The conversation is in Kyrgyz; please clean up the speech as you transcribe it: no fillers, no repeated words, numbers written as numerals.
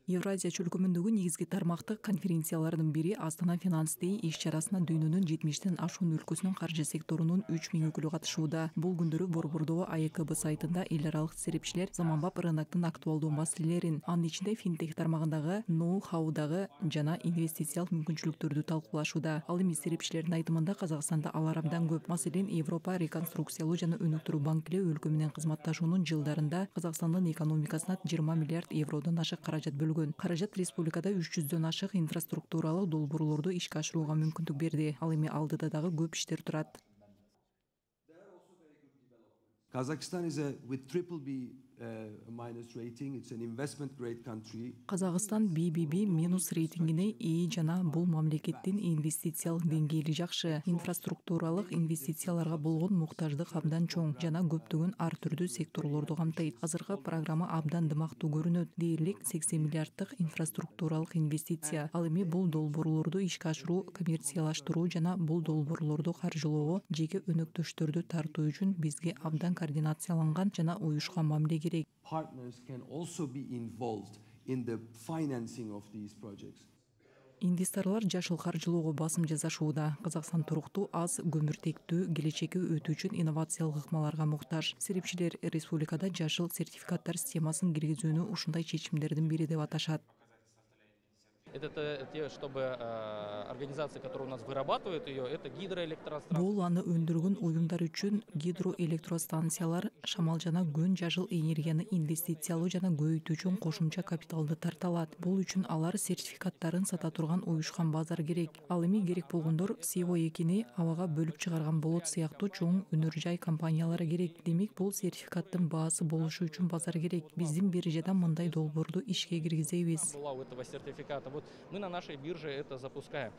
Евразия чөлкөмүндөгү негизги тармактык конференциялардын бири Астана Finance Day иш-чарасына дүйнөнүн 70тен ашуун өлкөсүнүн каржы секторунун 3000 өкүлү катышууда. Бул күндөрү Борбордоо АЭКБ сайтында эл аралык серепчилер заманбап рыноктун актуалдуу маселелерин, анын ичинде финтех тармагындагы ноу-хаудагы жана инвестициялык мүмкүнчүлүктөрдү талкуулашууда. Ал эми серепчилердин айтымында Казакстанда алар абдан көп. Маселен, Европа реконструкциялоо жана өнүктүрүү банкилери өлкө менен кызматташуунун жылдарында Казакстандын экономикасына 20 миллиард евродон ашык каражат бөлгөн. Каражат республикада 300дөн ашык инфраструктуралык долбоорлорду ишке ашырууга мүмкүндүк берди. Ал эми алдыда дагы көп иштер турат. Kazakhstan is with triple B minus rating. It's an investment grade country. Казакстан BBB минус рейтингине ээ жана бул мамлекеттин инвестициялык деңгээли жакшы. Инфраструктуралык инвестицияларга болгон муктаждык абдан чоң жана көптөгөн ар түрдүү секторлорду камтыйт. Азыркы программа абдан дымактуу көрүнөт. Дээрлик 80 миллиарддык инфраструктуралык инвестиция. Ал эми бул долбоорлорду ишке ашыруу, коммерциялаштыруу жана бул долбоорлорду каржылоого жеке өнөктөштөрдү тартуу үчүн бизге абдан координацияланган жана уюшкан мамиле керек. Partners can also be involved in the financing of these projects. Инвесторлор жашыл каржылоого басым жасашууда. Казакстан туруктуу, аз көмүртектүү келечекке өтүү үчүн инновациялык ыкмаларга муктаж. Серепчилер республикада жашыл сертификаттар системасын киргизүүнү ушундай чечимдердин бири деп аташат. Это те, чтобы организации, которые у нас вырабатывают ее, это гидроэлектростанции. Бул аны өндүргөн уюмдар үчүн гидроэлектростанциялар, шамал жана күн жашыл энергияны инвестициялоо жана көбөйтүү үчүн кошумча капиталды тарта алат. Бул үчүн алар сертификаттарын сата турган уюшкан базар керек. Ал эми керек болгондор CO2-ни абага бөлүп чыгарган болот сыяктуу чоң өнөр жай компаниялары керек. Демек, бул сертификаттын баасы болушу үчүн базар керек. Биздин биржада мындай долбоорду ишке киргизебиз. Мы на нашей бирже это запускаем.